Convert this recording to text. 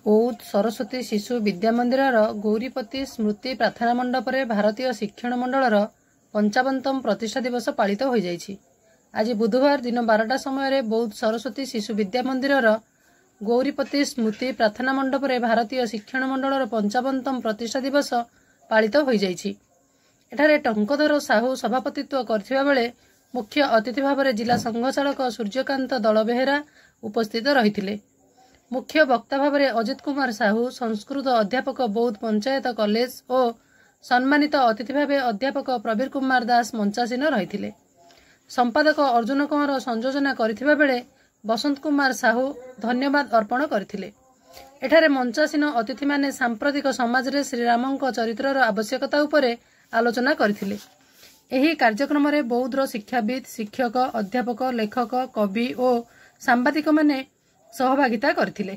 ବୌଦ୍ଧ ସରସ୍ୱତୀ ଶିଶୁ ବିଦ୍ୟା ମନ୍ଦିରର ଗୌରୀପତି ସ୍ମୃତି ପ୍ରାର୍ଥନା ମଣ୍ଡପରେ ଭାରତୀୟ ଶିକ୍ଷଣ ମଣ୍ଡଳର 55ତମ ପ୍ରତିଷ୍ଠା ଦିବସ ପାଳିତ ହୋଇଯାଇଛି। ଆଜି ବୁଧବାର ଦିନ 12ଟା ସମୟରେ ବୌଦ୍ଧ ସରସ୍ୱତୀ ଶିଶୁ ବିଦ୍ୟା ମନ୍ଦିରର ଗୌରୀପତି ସ୍ମୃତି ପ୍ରାର୍ଥନା ମଣ୍ଡପରେ ଭାରତୀୟ ଶିକ୍ଷଣ ମଣ୍ଡଳର 55ତମ ପ୍ରତିଷ୍ଠା ଦିବସ ପାଳିତ ହୋଇଯାଇଛି। ଏଠାରେ ଟଙ୍କଧର ସାହୁ ସଭାପତିତ୍ୱ କରିଥିବା ବେଳେ ମୁଖ୍ୟ ଅତିଥି ଭାବରେ ଜିଲ୍ଲା ସଂଘଚାଳକ ସୂର୍ଯ୍ୟକାନ୍ତ ଦଳବେହେରା ଉପସ୍ଥିତ ରହିଥିଲେ। ମୁଖ୍ୟ ବକ୍ତା ଭାବରେ ଅଜିତ କୁମାର ସାହୁ, ସଂସ୍କୃତ ଅଧ୍ୟାପକ, ବୌଦ୍ଧ ପଞ୍ଚାୟତ କଲେଜ ଓ ସମ୍ମାନିତ ଅତିଥି ଭାବେ ଅଧ୍ୟାପକ ପ୍ରବୀର କୁମାର ଦାସ ମଞ୍ଚାସୀନ ରହିଥିଲେ। ସମ୍ପାଦକ ଅର୍ଜୁନ କହଁର ସଂଯୋଜନା କରିଥିବା ବେଳେ ବସନ୍ତ କୁମାର ସାହୁ ଧନ୍ୟବାଦ ଅର୍ପଣ କରିଥିଲେ। ଏଠାରେ ମଞ୍ଚାସୀନ ଅତିଥିମାନେ ସାମ୍ପ୍ରତିକ ସମାଜରେ ଶ୍ରୀରାମଙ୍କ ଚରିତ୍ରର ଆବଶ୍ୟକତା ଉପରେ ଆଲୋଚନା କରିଥିଲେ। ଏହି କାର୍ଯ୍ୟକ୍ରମରେ ବୌଦ୍ଧର ଶିକ୍ଷାବିତ୍, ଶିକ୍ଷକ, ଅଧ୍ୟାପକ, ଲେଖକ, କବି ଓ ସାମ୍ବାଦିକମାନେ ସହଭାଗିତା କରିଥିଲେ।